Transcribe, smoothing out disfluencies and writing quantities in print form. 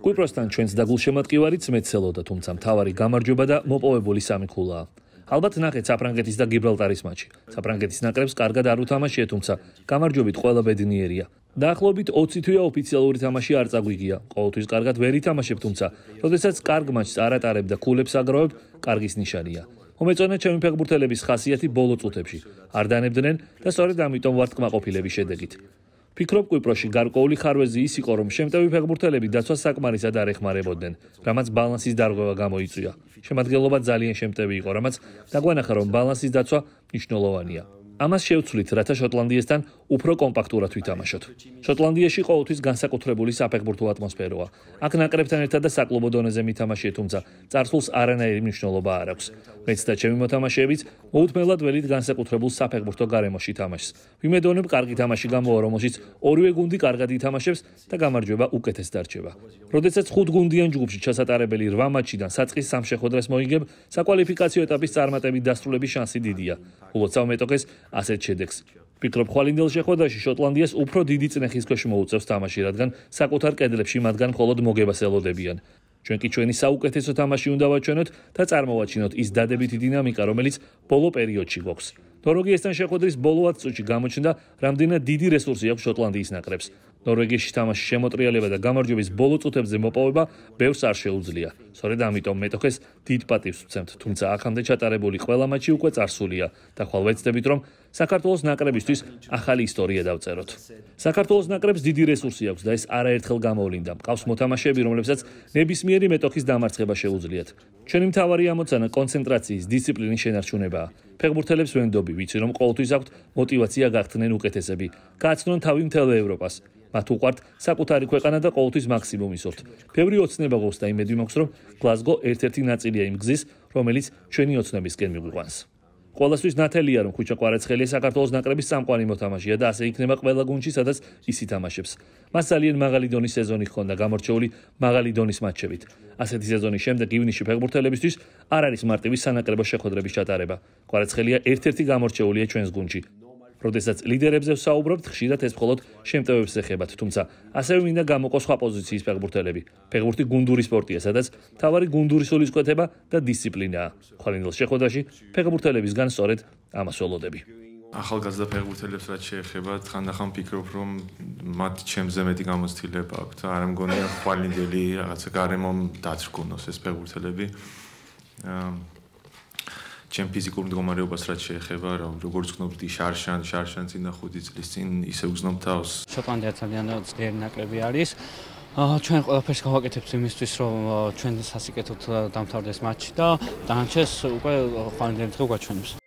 კვიპროსთან ჩვენს დაგულშემატკივარიც მეცელოდა, თუმცა მთავარი გამარჯვება და მოპოვებული სამი ქულაა. ალბათ ნახეთ საფრანგეთის და გიბრალტარის მატჩი. საფრანგეთის ნაკრებს კარგად არ უთამაშია, თუმცა გამარჯვებით ყველა ბედნიერია. დაახლოებით 20 თვეა ოფიციალური თამაში არ წაგვიგია. ყოველთვის კარგად ვერ ითამაშებ, თუმცა როდესაც კარგ მატჩს არ ატარებ და ქულებს აგროვებ, კარგის ნიშანია. მომეწონა ჩემი ფეხბურთელების ხასიათი ბოლო წუთებში. არ დანებდნენ და სწორედ ამიტომ ვართ კმაყოფილების შედეგით. ფიქრობ, კვიპროსში გარკვეული ხარვეზი ის იყო, რომ შემტევი ფეხბურთელები დაცვას საკმარისად არ ეხმარებოდნენ, რამაც ბალანსის დარღვევა გამოიწვია. შემადგენლობა ძალიან შემტევი იყო, რამაც დაგვანახა, რომ ბალანსის დაცვა მნიშვნელოვანია. ამას შევცვლით, რათა შოტლანდიესთან უფრო კომპაქტურად ვითამაშოთ. შოტლანდიაში ყოველთვის განსაკუთრებული საფეხბურთო ატმოსფეროა. აქ ნაკრებთან ერთად და საკლუბო დონეზე მითამაშია, თუმცა წარსულს არანაირი მნიშვნელობა არ აქვს. მეც და ჩემი მოთამაშეებიც მოუთმენლად ველით განსაკუთრებულ საფეხბურთო გარემოში თამაშს. ვიმედოვნებ, კარგი თამაში გამოვა, რომელშიც ორივე გუნდი კარგად ითამაშებს და გამარჯვება უკეთეს დარჩება. როდესაც 5 გუნდიან ჯგუფში ჩასატარებელი 8 მატჩიდან საწყის 3 შეხვედრას მოიგებ, საკვალიფიკაციო ეტაპის წარმატებით დასრულების შანსი დიდია. ულოცავ მეტოქეს ასეთ შედეგს. ფიქრობ, ხვალინდელ შეხვედრაში შოტლანდიას უფრო დიდი წნეხის ქვეშ მოუწევს თამაში, რადგან საკუთარ კედლებში მათგან მხოლოდ მოგებას ელოდებიან. ჩვენ კი ჩვენი საუკეთესო თამაში უნდა ვაჩვენოთ და წარმოვაჩინოთ ის დადებითი დინამიკა, რომელიც ბოლო პერიოდში გვაქვს. ნორვეგიასთან შეხვედრის ბოლო 10 წუთში გამოჩნდა, რამდენად დიდი რესურსი აქვს შოტლანდიის ნაკრებს. ნორვეგიაში თამაშის შემოტრიალება და გამარჯვების ბოლო წუთებზე მოპოვება ბევრს არ შეუძლია. სწორედ ამიტომ მეტოქეს დიდ პატივს ვცემთ, თუმცა აქამდე ჩატარებული ყველა მატჩი უკვე წარსულია და ხვალ ვეცდებით, რომ საქართველოს ნაკრებისთვის ახალი ისტორია დავწეროთ. საქართველოს ნაკრებს დიდი რესურსი აქვს და ეს არაერთხელ გამოვლინდა. მყავს მოთამაშეები, რომლებსაც ნებისმიერი მეტოქის დამარცხება შეუძლიათ. ჩვენი მთავარი ამოცანა კონცენტრაციის, დისციპლინის შენარჩუნებაა. ფეხბურთელებს ვენდობი, ვიცი რომ ყოველთვის აქვთ მოტივაცია გახდნენ უკეთესები. გააცნონ თავი მთელ ევროპას. მათ უყვართ საკუთარი ქვეყანა და ყოველთვის მაქსიმუმ ისურთ. ბევრი ოცნება გვაქვს და იმედი მაქვს, რომ გლაზგო ერთ-ერთი ნაწილია იმ გზის, რომელიც ჩვენი ოცნებისკენ მიგვიყვანს. ყველასთვის ნათელია, რომ ხუჩა კვარაცხელია საქართველოს ნაკრების წამყვანი მოთამაშეა და ასე იქნება ყველა გუნდში, სადაც ის ითამაშებს. მას ძალიან მაღალი დონის სეზონი ჰქონდა, გამორჩეული მაღალი დონის მატჩებით. ასეთი სეზონის შემდეგ ივნისში ფეხბურთელებისთვის არ არის მარტივი სანაკრებო შეხვედრების ჩატარება. კვარაცხელია ერთ-ერთი გამორჩეულია ჩვენს გუნდში. როდესაც ლიდერებზე ვსაუბრობთ, ხშირად ეს მხოლოდ შემტევებს ეხებათ, თუმცა ასევე მინდა გამოყოს სხვა პოზიციის ფეხბურთელები. ფეხბურთი გუნდური სპორტია, სადაც მთავარი გუნდური სულისკვეთება და დისციპლინაა. ხვალინდელ შეხვედრაში ფეხბურთელებისგან სწორედ ამას ველოდები. ახალგაზრდა ფეხბურთელებს რაც შეეხება, ხანდახან ვფიქრობ, რომ მათ ჩემზე მეტი გამოცდილება აქვთ. არ მგონია ხვალინდელი რაღაცა გარემომ დაწრგუნოს ეს ფეხბურთელები. ჩემ ფიზიკურ მდგომარეობას რაც შეეხება, როგორც გნობდი შარშან წინ და 5 წლის წინ ისე უგზნობ თავს. შოტლანდია ძალიან ძლიერი ნაკრები არის. ჩვენ ყველაფერს გავაკეთებთ იმისთვის, რომ ჩვენ სასიკეთოდ დამთავრდეს მატჩი და დანარჩენს უკვე ხვალინდელი დღე გვაჩვენებს.